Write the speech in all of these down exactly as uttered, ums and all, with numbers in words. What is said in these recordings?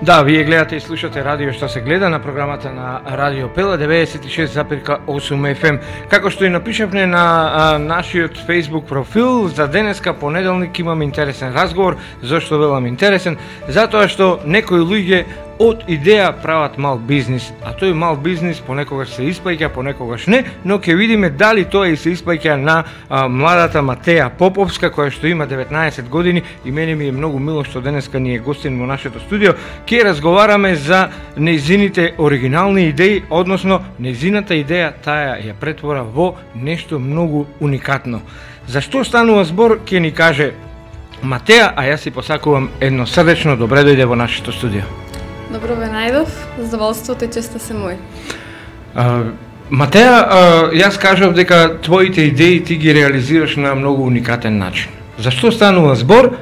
Да, вие гледате и слушате радио што се гледа на програмата на Радио Пела деветдесет и шест запирка осум еф ем. Како што и напишавме на а, нашиот Facebook профил, за денеска понеделник имам интересен разговор. Зошто велам интересен? Затоа што некои луѓе од идеја прават мал бизнис, а тој мал бизнис понекогаш се испаќа, понекогаш не, но ќе видиме дали тоа и се испаќа на а, младата Матеја Поповска, која што има деветнаесет години, и мене ми е многу мило што денеска ни е гостин во нашето студио. Ќе разговараме за нејзините оригинални идеи, односно нејзината идеја таа ја претвора во нешто многу уникатно. За што станува збор ќе ни каже Матеја, а јас си посакувам едно срдечно добре дојде во нашето студио. Добро ве најдов, задоволството и честа се мој. А, Матеја, а, јас кажав дека твоите идеи ти ги реализираш на многу уникатен начин. Зашто станува збор,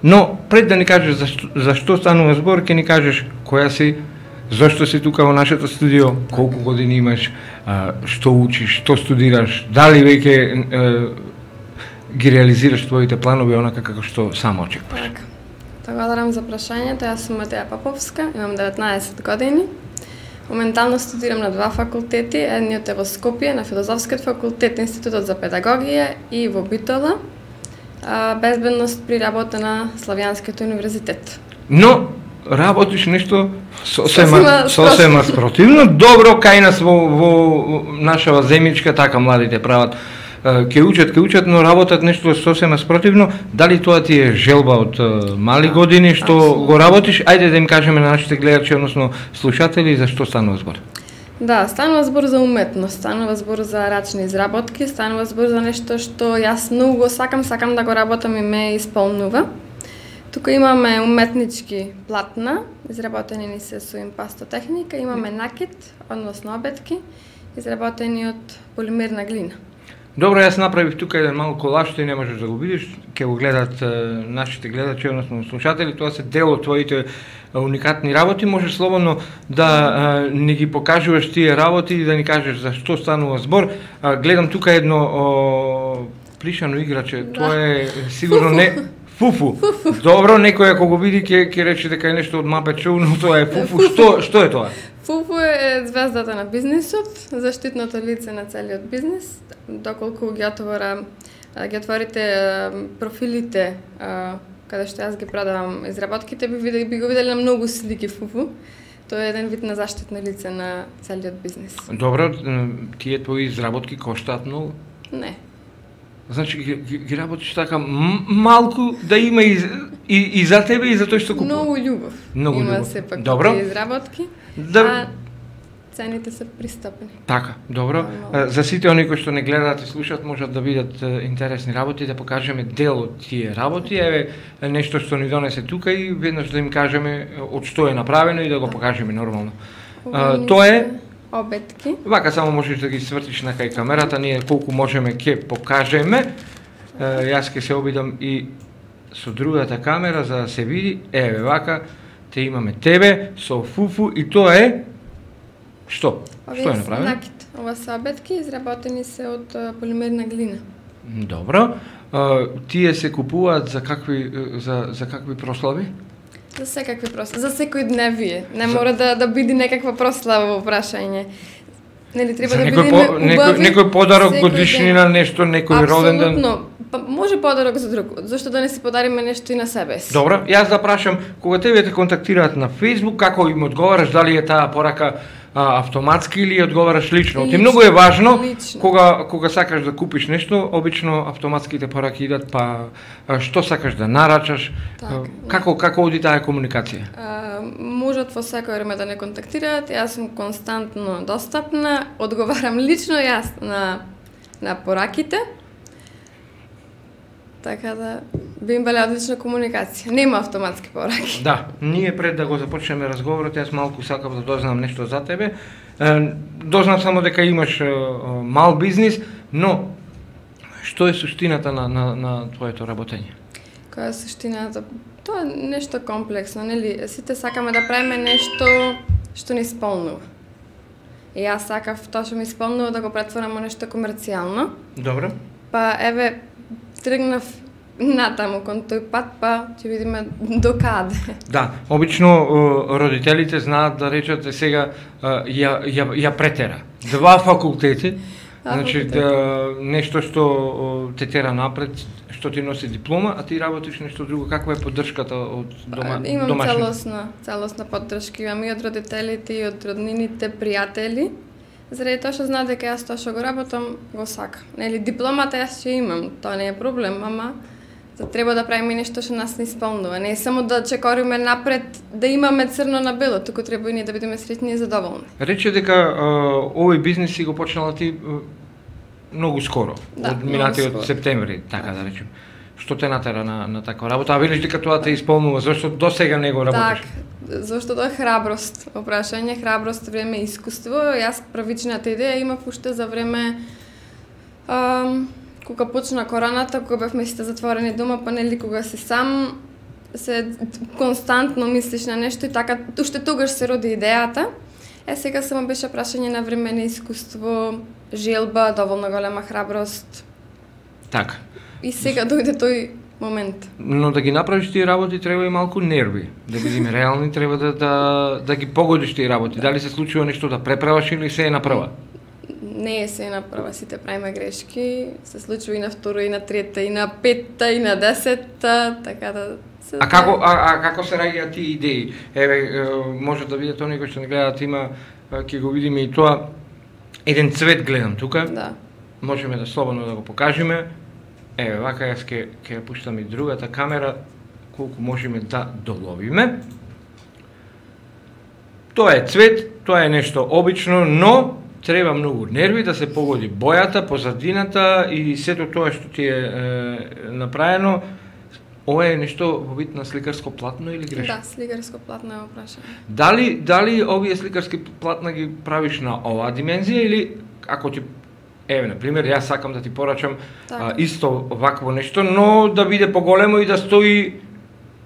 но пред да ни кажеш зашто, зашто станува збор, ќе ни кажеш која си, зашто си тука во нашето студио, колку години имаш, а, што учиш, што студираш, дали веќе ги реализираш твоите планови онака како што само очекуваш. Така. Благодарам за прашањето. Јас сум Матеја Поповска, имам деветнаесет години. Моментално студирам на два факултети, едниот е во Скопје, на Филозофскиот факултет, Институтот за педагогија, и во Битола, безбедност при работа на Славјанскиот универзитет. Но работиш нешто сосема сосема спротивно. Добро, кај нас во, во нашава земјичка така младите прават. Ке учат, ке учат, но работат нешто сосема спротивно. Дали тоа ти е желба од мали години што Абсолютно. Го работиш? Ајде да им кажеме на нашите гледачи, односно слушатели, за што станува збор. Да, станува збор за уметност, станува збор за рачни изработки, станува збор за нешто што јас многу сакам, сакам да го работам и ме исполнува. Тука имаме уметнички платна, изработени ни се со импастотехника, имаме накид, односно обетки, изработени од полимерна глина. Добро, јас направив тука еден мал колаж, што не можеш да го видиш, ќе го гледат е, нашите гледачи, односно слушатели, тоа се дел од твоите уникатни работи, можеш слободно да е, ни ги покажуваш тие работи и да ни кажеш за што станува збор. А, гледам тука едно о, плишано играче, да. Тоа е сигурно не... Фуфу. Фуфу. Добро, некој ако го види ќе ќе рече дека е нешто од Muppet Show, но тоа е Фуфу. Што што е тоа? Фуфу е звездата на бизнисот, заштитното лице на целиот бизнис. Доколку ги отвора, ги отворите профилите каде што јас ги продавам изработките, би видели би го видели на многу слики Фуфу. Тоа е еден вид на заштитно лице на целиот бизнис. Добро, тие твои изработки коштаат многу? Не. Значи ги, ги, ги работиш така малку да има и, и, и за тебе и за тој што купува. Многу љубов. Многу има љубов. сепак добро. Изработки. Да. А цените се пристапни. Така, добро. No. За сите оние кои што не гледаат и слушаат можат да видат интересни работи, да покажеме дел од тие работи. Еве нешто што ни донесе тука и веднаш да им кажеме од што е направено и да го покажеме нормално. А, тоа е обетки. Вака само можеш да ги свртиш на кај камерата, ние колку можеме ќе покажеме. Е, јас ќе се обидам и со другата камера за да се види. Еве вака, те имаме тебе со Фуфу и тоа е што? Овие што е направено? Накид. Ова се обетки изработени се од полимерна глина. Добро. А, тие се купуваат за какви за за какви прослави? За секакви прослави, за секој дневие. Не за... мора да да биде некаква прослава во прашање. Нели треба да биде по, некој, некој подарок, годишнина, нешто, некој роден ден. Апсолутно. Па може подарок за друг. Зошто да не си подариме нешто и на себе си? Добро, јас да прашам, кога тебе те контактираат на Facebook, како им одговараш, дали е таа порака а, автоматски или одговараш лично? Ти многу е важно лично. кога кога сакаш да купиш нешто, обично автоматските пораки идат па а, што сакаш да нарачаш, так, а, како како оди таа комуникација? А, можат во секој време да не контактираат, јас сум константно достапна, одговарам лично јас на на пораките. Така да би им била одлична комуникација. Нема автоматски пораки. Да, ние пред да го започнеме разговорот, јас малку сакав да дознам нешто за тебе. Дознав само дека имаш мал бизнис, но што е суштината на на на твоето работење? Која е суштината? Тоа е нешто комплексно, нели? Сите сакаме да правиме нешто што ни исполнува. И јас сакав тоа што ми исполнува да го претворам во нешто комерцијално. Добро. Па еве тргнав натаму кон тој пат, па ќе видиме до каде. Да, обично е, родителите знаат да речат е сега е, ја, ја, ја претера. Два факултети, значи да, нешто што е, те тера напред, што ти носи диплома, а ти работиш нешто друго. Каква е поддршката од дома, па, имам домашните? целосна, целосна поддршка, имам и од родителите, и од роднините, пријатели. Заради тоа што знаат дека јас тоа што го работам, го сакам. Нели, дипломата јас ќе имам, тоа не е проблем, ама за треба да правиме нешто што нас не исполнува. Не е само да чекориме напред, да имаме црно на бело, туку треба и ние да бидеме среќни и задоволни. Рече дека а, овој бизнис си го почнала ти а, многу скоро, Да, од многу минатиот скоро. септември, така да речем. Што те натера на, на таква работа? А велиш дека тоа те исполнува, зашто до сега не го работиш? Так, зашто тоа е храброст. Опрашање, храброст, време и искуство. Јас правичната идеја имав уште за време ам, кога почна короната, кога бевме сите затворени дома, па нели кога си сам, се константно мислиш на нешто и така, уште тогаш се роди идејата. Е, сега само беше прашање на време, на искуство, желба, доволно голема храброст. Така. И сега дојде тој момент. Но да ги направиш тие работи треба и малку нерви. Да бидеме реални, треба да, да, да ги погодиш тие работи. Дали се случува нешто да преправаш или се е направа? Не е се на прва, сите правиме грешки, се случува и на втора, и на трета, и на петта, и на десетта, така да се... А како, а, а како се раѓаат тие идеи? Еве, е, може да видите оние кои што не гледаат, има, ќе го видиме и тоа, еден цвет гледам тука, Да. можеме да слободно да го покажеме. Еве, вака јас ќе ќе ја пуштам и другата камера, колку можеме да доловиме. Тоа е цвет, тоа е нешто обично, но треба многу нерви да се погоди бојата, позадината и сето тоа што ти е, е направено. Ова е нешто во вид на сликарско платно или грешно? Да, сликарско платно е опрашање. Дали дали овие сликарски платна ги правиш на оваа димензија или ако ти еве на пример јас сакам да ти порачам Така. а, исто вакво нешто, но да биде поголемо и да стои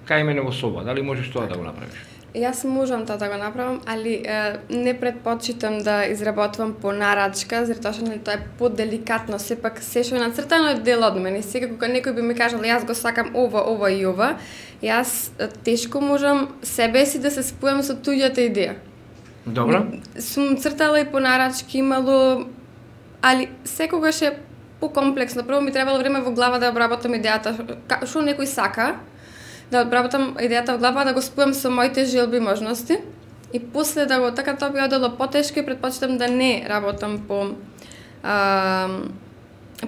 кај мене во соба. Дали можеш тоа да го направиш? Јас можам тоа да го направам, али е, не предпочитам да изработвам по нарачка, заради тоа што нели тоа е поделикатно, сепак се што е нацртано е дел од мене. Сега кога некој би ми кажал јас го сакам ова, ова и ова, јас е, тешко можам себе си да се спојам со туѓата идеја. Добро? Сум цртала и по нарачки, имало, али секогаш е покомплексно. Прво ми требало време во глава да обработам идејата, ка- што некој сака, да обработам идејата во глава, да го спојам со моите желби и можности. И после да го така тоа би одело потешко и предпочитам да не работам по а,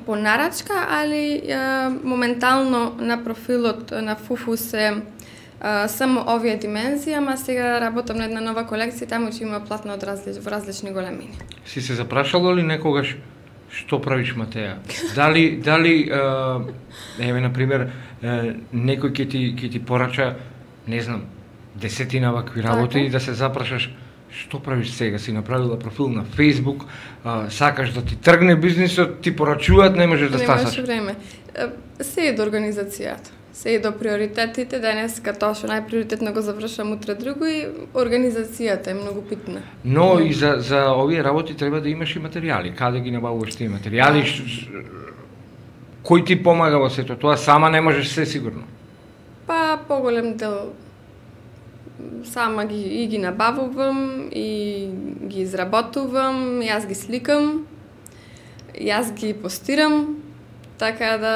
по нарачка, али а, моментално на профилот на Фуфу се а, само овие димензии, ама сега работам на една нова колекција, таму ќе има платно од различ, во различни големини. Си се запрашала ли некогаш што правиш, Матеја? Дали дали е, еве на пример е, некој ќе ти ќе ти порача, не знам, десетина вакви работи Така. и да се запрашаш што правиш сега? Си направила профил на Facebook, а, сакаш да ти тргне бизнисот, ти порачуваат, не можеш да Немаше стасаш. време. Е, Се е до организацијата. Се е до приоритетите, денеска тоа што најприоритетно го завршам, утре друго и организацијата е многу битна. Но и за за овие работи треба да имаш и материјали. Каде ги набавуваш тие материјали? Ш- ш- Кој ти помага во сето тоа? Сама не можеш се сигурно. Па поголем дел сама ги и ги набавувам и ги изработувам, јас ги сликам, јас ги постирам, така да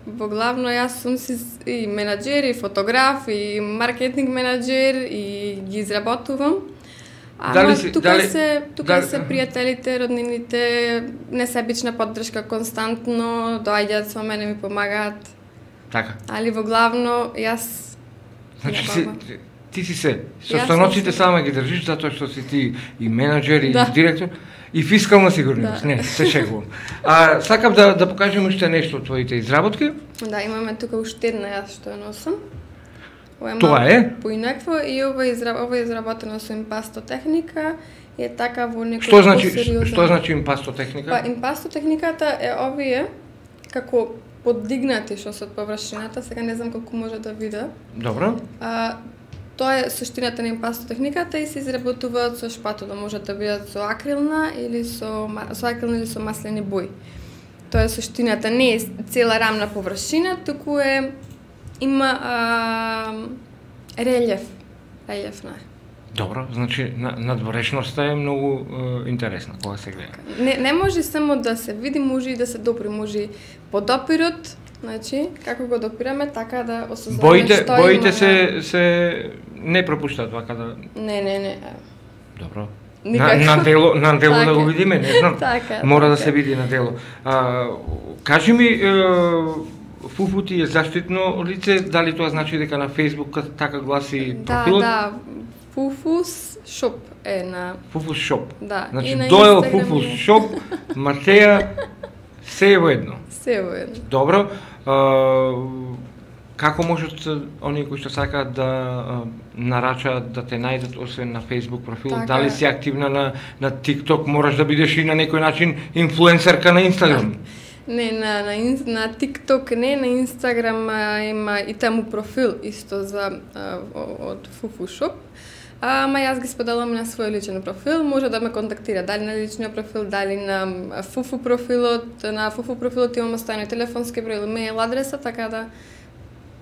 во главно јас сум си и менаџер, и фотограф, и маркетинг менаџер и ги изработувам. Ама Дали си- тука дали- се тука дали- се пријателите, роднините, несебична поддршка константно, доаѓаат со мене, ми помагаат, Така. али во главно јас Значи ја се, баба. ти си се, Јас состаноците сум се. сама ги држиш затоа што си ти и менаџер и Да. директор и фискална сигурност. Да. Не, се шегувам. А сакам да да покажем уште нешто од твоите изработки. Да, имаме тука уште една јас што ја носам. Ова Тоа малку е? поинакво и ова е изра... ова е изработено со импасто техника и е така во некој Што значи посериозен- што значи импасто техника? Па импасто техниката е овие како подигнати што се од површината, сега не знам колку може да вида. Добро. А, тоа е суштината на импасто техниката и се изработуваат со шпатула, може да бидат со акрилна или со ма- со акрилна или со маслени бои. Тоа е суштината, не е цела рамна површина, туку е има а, релјеф, релјефна. Добро, значи надворешноста е многу е, интересна кога се гледа. Не не може само да се види, може и да се допри, може по допирот, значи како го допираме така да осознаваме боите, што боите има. се се не пропуштаат вака да. Не, не, не. Добро. На, Никако. на дело, на дело Така да го е. видиме, не знам. Така, Мора да така. се види на дело. А, кажи ми, е, Фуфу ти е заштитно лице, дали тоа значи дека на Facebook така гласи Да, профилот? да. Фуфус шоп е на Фуфус шоп. да, Значи и на доел Инстаграм Фуфус е. шоп, Матеја се е воедно. Се воедно. Добро. А, како можат оние кои што сакаат да а, нарачаат да те најдат освен на Facebook профил? Така Дали е. си активна на на TikTok, мораш да бидеш и на некој начин инфлуенсерка на Instagram? Не, на, на, ин- на TikTok не, на Instagram а, има и таму профил исто за а, о- од Фуфу Шоп. Ама јас ги споделам на свој личен профил, може да ме контактира дали на личниот профил, дали на а, Фуфу профилот, на Фуфу профилот имам оставени телефонски број или мејл адреса, така да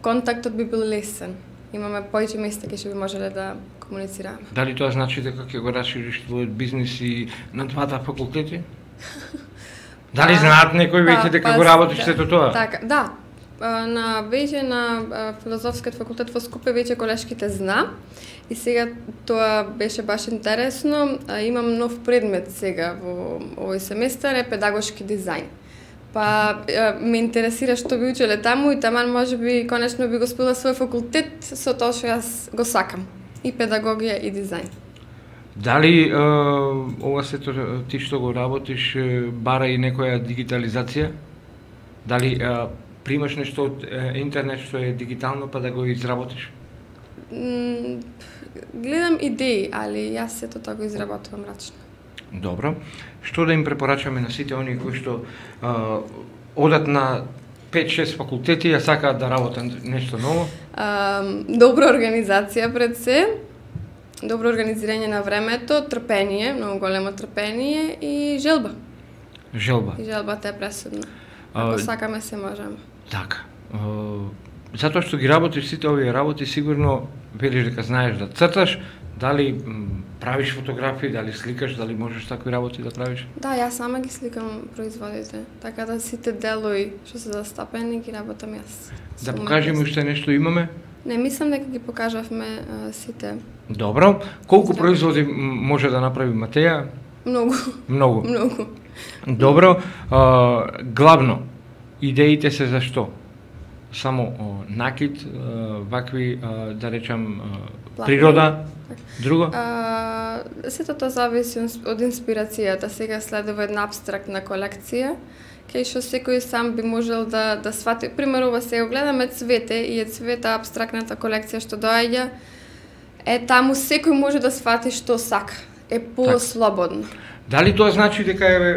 контактот би бил лесен. Имаме поиќе места кај што би можеле да комуницираме. Дали тоа значи дека ќе го расшириш твојот бизнис и на двата факултети? Дали Па, знаат некои веќе па, дека па, го работиш да, сето тоа? Така, да. А, На веќе на а, филозофскиот факултет во Скопје веќе колешките зна и сега тоа беше баш интересно. А, имам нов предмет сега во овој семестар е педагошки дизајн. Па а, ме интересира што би учеле таму и таман можеби конечно би го споделила свој факултет со тоа што јас го сакам. И педагогија и дизајн. Дали е, ова сето ти што го работиш е, бара и некоја дигитализација? Дали е, примаш нешто од е, интернет што е дигитално па да го изработиш? М, Гледам идеи, али јас сето тоа го изработувам рачно. Добро. Што да им препорачаме на сите оние кои што е, одат на пет-шест факултети, а сакаат да работат нешто ново? А, добра организација пред се, добро организирање на времето, трпение, многу големо трпение и желба. Желба. И желбата е пресудна. А, Ако сакаме се можеме. Така. Е, затоа што ги работиш сите овие работи, сигурно велиш дека знаеш да црташ, дали м, правиш фотографии, дали сликаш, дали можеш такви работи да правиш? Да, јас сама ги сликам производите, така да сите делои што се застапени ги работам јас. Да Со покажеме уметност. уште нешто имаме? Не, мислам дека ги покажавме а, сите. Добро. Колку Здраво. производи м, може да направи Матеја? Многу, Многу. многу. Добро. А, главно, идеите се за што? Само о, накид, а, вакви, а, да речам, а, Платно. природа, друго? А, сето тоа зависи од инспирацијата. Сега следува една абстрактна колекција, кај што секој сам би можел да да свати. Пример, ова сега гледаме цвете и е цвета абстрактната колекција што доаѓа. Е таму секој може да свати што сака. Е послободно. Дали тоа значи дека е, е,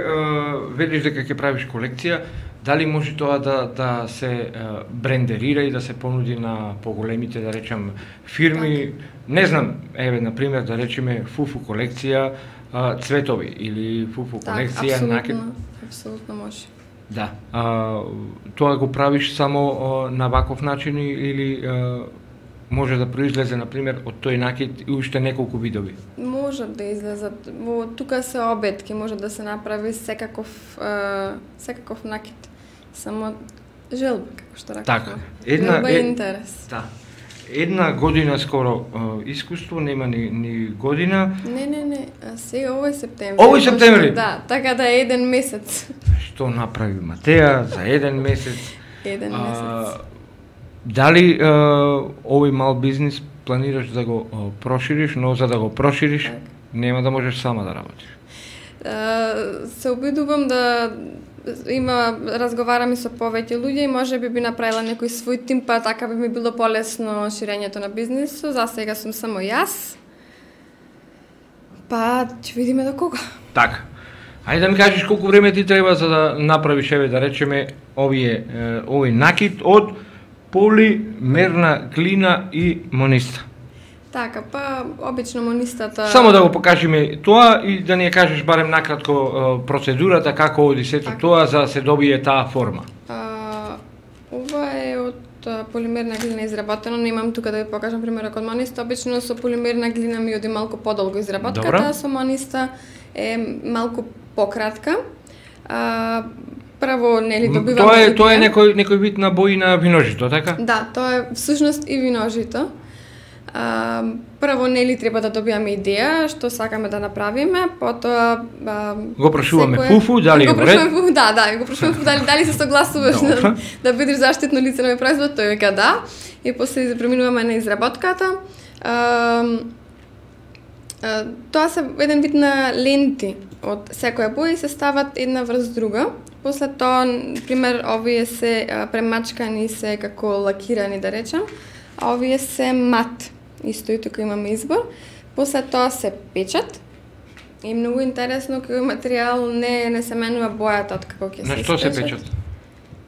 велиш дека ќе правиш колекција, дали може тоа да да се е, брендерира и да се понуди на поголемите, да речам, фирми, не знам, еве на пример да речеме Фуфу колекција а, цветови или Фуфу колекција накид. апсолутно, апсолутно може. Да. А, тоа го правиш само а, на ваков начин и- или а, може да произлезе на пример од тој накид и уште неколку видови? Може да излезат. Во тука се обетки, може да се направи секаков е, секаков накид. Само желба, како што ракав. Така. Една Желба и е- интерес. Да. Една година скоро а, искуство, нема ни, ни година. Не, не, не, а сега овој септември. Овој септември? Да, така да е еден месец. Што направи Матеја за еден месец? Еден месец. Дали а, овој мал бизнис планираш да го а, прошириш, но за да го прошириш, Така. нема да можеш сама да работиш. Е, се обидувам да има разговарам и со повеќе луѓе и може би би направила некој свој тим, па така би ми било полесно ширењето на бизнисот. За сега сум само јас. Па ќе видиме до кога. Така. Ајде да ми кажеш колку време ти треба за да направиш, еве да речеме, овие е, овој накид од полимерна глина и мониста. Така, па обично монистата... Само да го покажеме тоа и да ни ја кажеш барем накратко процедурата како оди сето тоа за да се добие таа форма. А, ова е од полимерна глина изработено, не имам тука да ви покажам примерот од мониста. Обично со полимерна глина ми оди малку подолго изработката, Добра. со мониста е малку пократка. А, прво нели добиваме... Тоа е тоа е некој некој вид на бои на виножито, така? Да, тоа е всушност и виножито. А, прво нели треба да добиеме идеја што сакаме да направиме, потоа а, го прошуваме секој... фуфу, дали го е ред? фуфу, да, да, го прошуваме фуфу, дали дали се согласуваш да, да бидеш заштитно лице на производ, тој вика да. И после преминуваме на изработката. А, а, тоа се еден вид на ленти од секоја боја и се стават една врз друга. После тоа, пример, овие се а, премачкани, се како лакирани да речам, а овие се мат. Исто и тука имаме избор. После тоа се печат. И многу интересно кој материјал не не се менува бојата од како ќе се. На што се печат?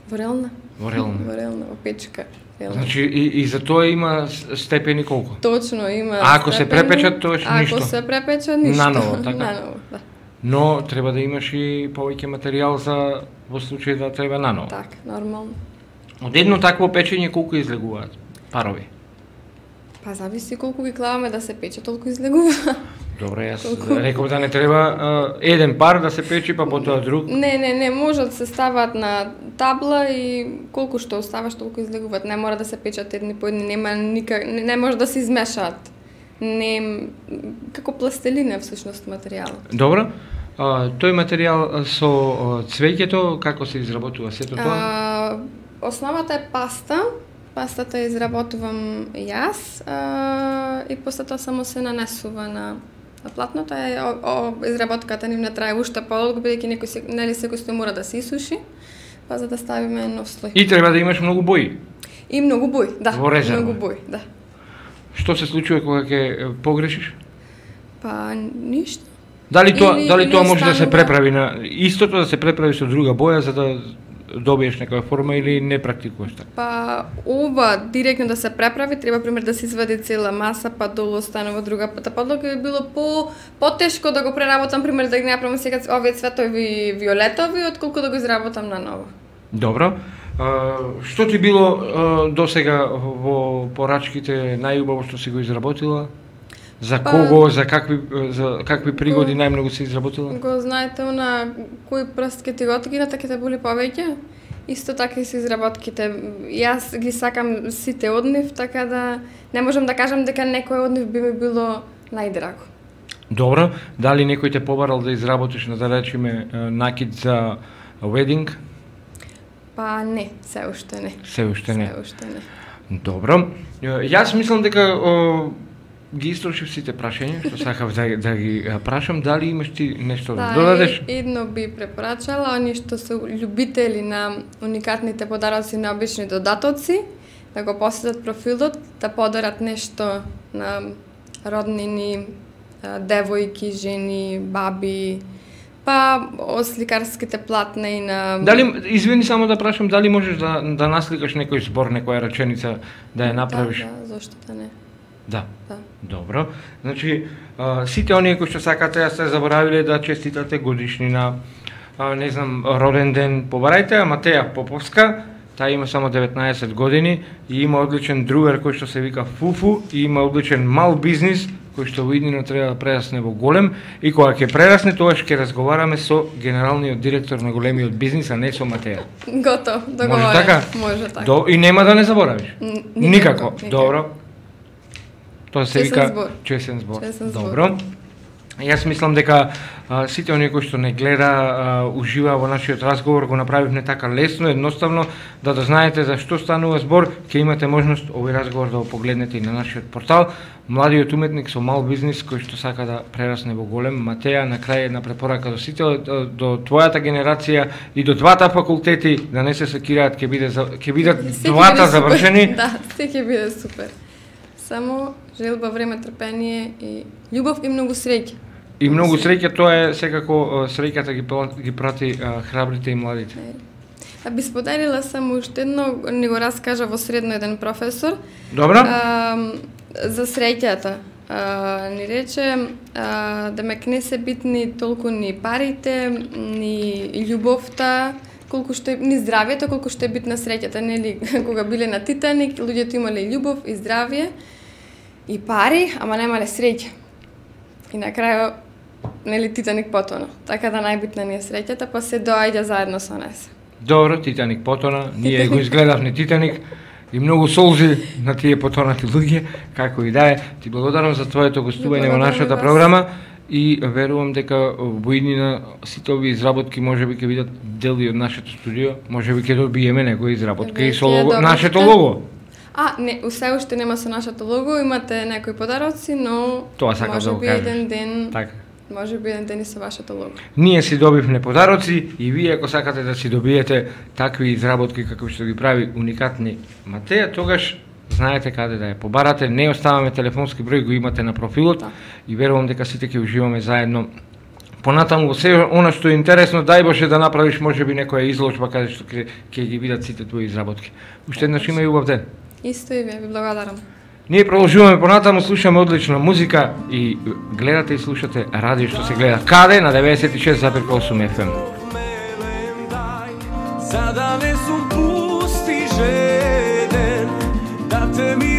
Ворелна. Ворелна. Ворелна, опечка. Значи и, и за тоа има степени колку? Точно има. А ако се степени, препечат, тоа е ништо. Ако се препечат, ништо. Наново, така? Наново, да. Но треба да имаш и повеќе материјал за во случај да треба наново. Така, нормално. Од едно такво печење колку излегуваат парови? Па зависи колку ги клаваме да се пече, толку излегува. Добре, јас Колку? реков да не треба а, еден пар да се печи, па потоа друг. Не, не, не, можат да се стават на табла и колку што оставаш, толку излегуваат. Не мора да се печат едни по едни, нема никак, не, не може да се измешаат. Не, како пластелина всушност материјал. Добро. А, тој материјал со а, цвеќето, како се изработува сето тоа? А, основата е паста. Пастата ја изработувам јас а, и после тоа само се нанесува на, на платното. Е, о, о, изработката нивна трае уште подолго, бидејќи некој се, нели секој стој мора да се исуши, па за да ставиме нов слој. И треба да имаш многу бои. И многу бој, да. Во резерва. Многу бој, да. Што се случува кога ќе погрешиш? Па ништо. Дали тоа, Или дали тоа не може да се останува- преправи на истото, да се преправи со друга боја за да добиеш некоја форма или не практикуваш така? Па ова директно да се преправи, треба пример да се извади цела маса, па долу останува друга пата подлога, би било по потешко да го преработам, пример да ги направам сега овие цветови виолетови, отколку да го изработам наново. Добро. А, што ти било а, досега во порачките најубаво што си го изработила? За Па- кого, за какви за какви пригоди најмногу си изработила? Го знаете она кој прст ќе ти го откинат, ќе те боли повеќе? Исто така и со изработките. Јас ги сакам сите од нив, така да не можам да кажам дека некој од нив би ми било најдраго. Добро. Дали некој те побарал да изработиш, на да речеме, накид за wedding? Па не, се уште не. Се уште не. Се уште не. Добро. Јас мислам дека о, ги истрошив сите прашања, што сакав да, да ги а, прашам, дали имаш ти нешто да, Да, додадеш? и- едно би препорачала, они што се љубители на уникатните подароци на обични додатоци, да го посетат профилот, да подарат нешто на роднини, а, девојки, жени, баби, па осликарските платна и на... Дали, извини само да прашам, дали можеш да, да насликаш некој збор, некоја реченица, да ја направиш? Да, да, зошто да не? Да. Да. Добро. Значи, а, сите оние кои што сакате, ја сте заборавиле да честитате годишнина, а, не знам, роден ден, побарајте ја Матеја Поповска, таа има само деветнаесет години и има одличен другар кој што се вика Фуфу и има одличен мал бизнис кој што во иднина треба да прерасне во голем и кога ќе прерасне, тогаш ќе разговараме со генералниот директор на големиот бизнис, а не со Матеја. Готов, договорен. Може така? Може така. До, и нема да не заборавиш. Н- Никако. никако, никако. Добро. Тоа се Чесен вика збор. чесен збор. Чесен збор. Добро. Јас мислам дека а, сите оние кои што не гледа, а, ужива во нашиот разговор, го направивме така лесно, едноставно, да да знаете за што станува збор, ќе имате можност овој разговор да го погледнете и на нашиот портал. Младиот уметник со мал бизнис кој што сака да прерасне во голем. Матеја, на крај една препорака до сите, до, до твојата генерација и до двата факултети, да не се секираат, ќе биде за- ќе бидат Се ќе двата биде супер. завршени. Да, се ќе биде супер. Само желба, време, трпение и љубов и многу среќа. И многу среќа, тоа е секако а, среќата ги пла- ги прати а, храбрите и младите. А би споделила само уште едно, ни го раскажа во средно еден професор. Добра. А, за среќата. А, ни рече, а, демек не се битни толку ни парите, ни љубовта, колку што е, ни здравието, колку што е битна среќата, нели? Кога биле на Титаник, луѓето имале љубов и здравие и пари, ама немале среќа. И на крајот, нели, Титаник потона. Така да најбитна ни е среќата, па се доаѓа заедно со нас. Добро, Титаник потона, ние го изгледавме Титаник и многу солзи на тие потонати луѓе, како и да е. Ти благодарам за твоето гостување во нашата програма и верувам дека во иднина сите овие изработки можеби ќе бидат дели од нашето студио, можеби ќе добиеме некоја изработка и со лого, нашето лого. А, не, усе уште нема со нашето лого, имате некои подароци, но тоа сакам да го кажеш. еден ден, така. може би еден ден и со вашето лого. Ние си добивме подароци и вие ако сакате да си добиете такви изработки како што ги прави уникатни Матеја, тогаш знаете каде да ја побарате, не оставаме телефонски број, го имате на профилот да. И верувам дека сите ќе уживаме заедно. Понатаму во се она што е интересно, дај Боже да направиш можеби некоја изложба каде што ќе ќе ги видат сите твои изработки. Уште еднаш има и убав ден. Исто и вие, ви благодарам. Ние продолжуваме понатаму, слушаме одлична музика и гледате и слушате радио што се гледа каде на деветдесет и шест запирка осум еф ем. За да не сум пусти жеден, да те ми